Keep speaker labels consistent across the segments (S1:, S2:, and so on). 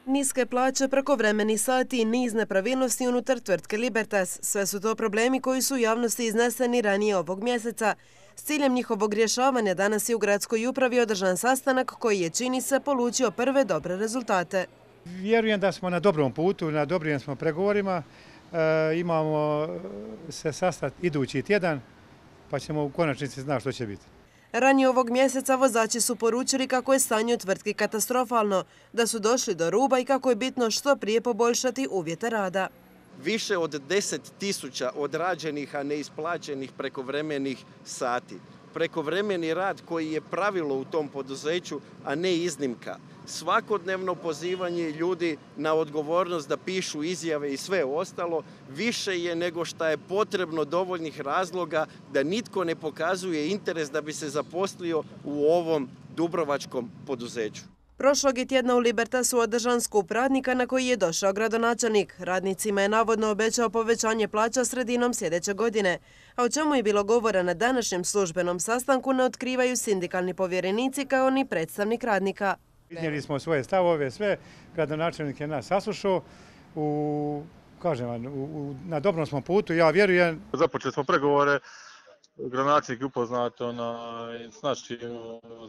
S1: Niske plaće, prekovremeni sati i niz nepravilnosti unutar tvrtke Libertas. Sve su to problemi koji su u javnosti izneseni ranije ovog mjeseca. S ciljem njihovog rješavanja danas je u gradskoj upravi održan sastanak koji je, čini se, polučio prve dobre rezultate.
S2: Vjerujem da smo na dobrom putu, na dobrim smo pregovorima. Imamo se sastati idući tjedan, pa ćemo u konačnici znati što će biti.
S1: Ranije ovog mjeseca vozači su poručili kako je stanje u tvrtki katastrofalno, da su došli do ruba i kako je bitno što prije poboljšati uvjete rada.
S3: Više od 10.000 odrađenih, a neisplaćenih prekovremenih sati. Prekovremeni rad koji je pravilo u tom poduzeću, a ne iznimka. Svakodnevno pozivanje ljudi na odgovornost da pišu izjave i sve ostalo više je nego što je potrebno dovoljnih razloga da nitko ne pokazuje interes da bi se zaposlio u ovom dubrovačkom poduzeću.
S1: Prošlog je tjedna u Libertasu održan skup radnika na koji je došao gradonačelnik. Radnicima je navodno obećao povećanje plaća sredinom sljedeće godine. A o čemu je bilo govora na današnjem službenom sastanku ne otkrivaju sindikalni povjerenici kao ni predstavnik radnika.
S2: Iznijeli smo svoje stavove, sve. Gradonačelnik je nas saslušao. Na dobrom smo putu, ja vjerujem.
S4: Započeli smo pregovore. Gradonačelnik je upoznat s našim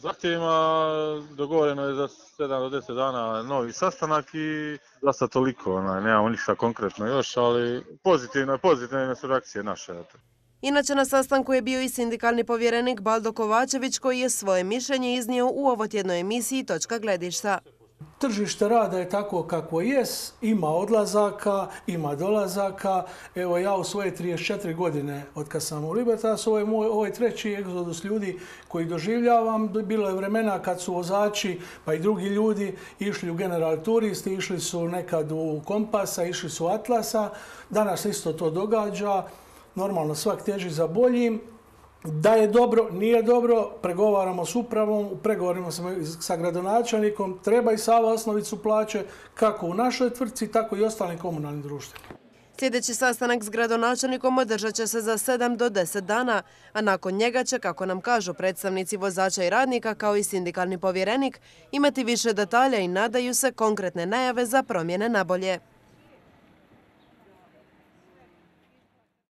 S4: zahtjevima. Dogovoreno je za 7 do 10 dana novi sastanak i za sad toliko. Nemamo ništa konkretno još, ali pozitivne su reakcije naše.
S1: Inače, na sastanku je bio i sindikalni povjerenik Baldo Kovačević koji je svoje mišljenje iznio u ovotjednoj emisiji Točka gledišta.
S5: Tržište rada je tako kako jest, ima odlazaka, ima dolazaka. Evo ja u svoje 34 godine od kad sam u Libertasu, ovo je treći egzodus ljudi koji doživljavam. Bilo je vremena kad su vozači pa i drugi ljudi išli u General Turisti, išli su nekad u Kompasa, išli su u Atlasa. Danas isto to događa. Normalno svak teži za boljim. Da je dobro, nije dobro, pregovaramo s upravom, u pregovorima sa gradonačelnikom, treba i Sava osnovicu plaće kako u našoj tvrtci, tako i ostalim komunalnim društvima.
S1: Sljedeći sastanak s gradonačelnikom održat će se za 7 do 10 dana, a nakon njega će, kako nam kažu predstavnici vozača i radnika kao i sindikalni povjerenik, imati više detalja i nadaju se konkretne najave za promjene na bolje.